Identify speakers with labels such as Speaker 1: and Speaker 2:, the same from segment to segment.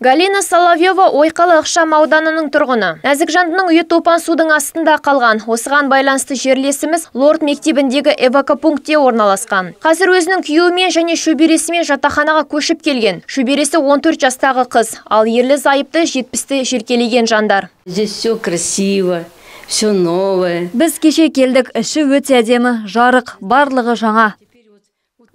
Speaker 1: Галина Соловьева Ойқалы ықшам ауданының тұрғыны. Нәзік жандының үйі топан судың астында қалған. Осыған байланысты жерлесіміз Лорд мектебіндегі эвакопунктте орналасқан. Қазір өзінің күйеуімен және шөбересімен жатақханаға көшіп келген. Шөбересі 14 жастағы қыз, ал ерлі зайыпты 70-ті желкелеген жандар.
Speaker 2: Здесь все красиво, все новое.
Speaker 3: Біз кеше келдік, іші өте әдемі, жарық, барлығы жаңа.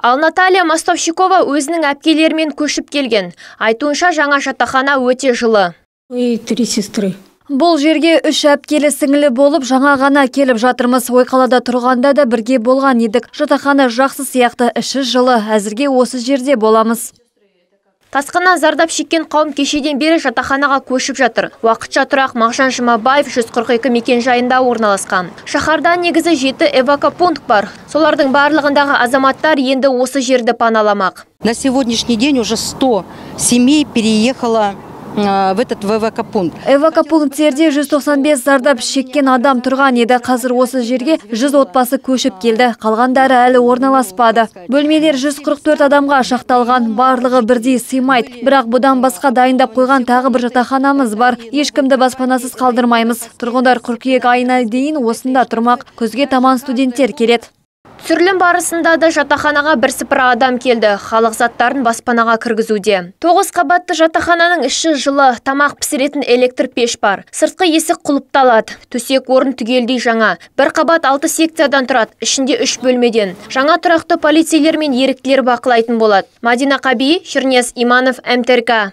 Speaker 1: Ал Наталья Мостовщикова өзінің әпкелерімен көшіп келген. Айтуынша жаңа жатақхана өте жылы.
Speaker 4: И 3 сестры.
Speaker 3: Бұл жерге 3 әпкелі сіңілі болып жаңа ғана келіп жатырмыз. Ойқалада тұрғанда да бірге болған едік. Жатақхана жақсы сияқты, іші жылы. Әзірге осы жерде боламыз.
Speaker 1: Тасқыннан зардап шеккен қауым кешеден бері жатақханаға көшіп жатыр. Уақытша тұрақ Мағжан Жұмабаев 142 мекенжайында орналасқан. Шаһарда негізі 7 эвакопункт бар. Солардың барлығындағы азаматтар енді осы жерді паналамақ.
Speaker 5: На сегодняшний день уже 100 семей переехало в этот эвакопункт.
Speaker 3: Эвакопункттерде 195 зардап шеккен адам тұрған еді. Қазір осы жерге 100 отбасы көшіп келді. Қалғандары әлі орналаспады. Бөлмелер 144 адамға шақталған, барлығы бірдей сыймайды. Бірақ бұдан басқа дайындап қойған тағы бір жатақханамыз бар. Ешкімді баспанасыз қалдырмаймыз. Тұрғындар қыркүйек айына дейін осында тұрмақ. Күзге таман студенттер келеді.
Speaker 1: Түсірілім барысында да жатақханаға бірсыпыра адам келді. Халық заттарын баспанаға кіргізуде. 9 қабатты жатақхананың іші жылы, тамақ пісіретін электр пеш бар. Сыртқы есік құлыпталады. Төсек орын түгелдей жаңа. Бір қабат 6 секциядан тұрады, ішінде 3 бөлмеден. Жаңа тұрақты полицейлер мен еріктілер бақылайтын болады. Мадина Қаби, Шернес Иманов, МТРК.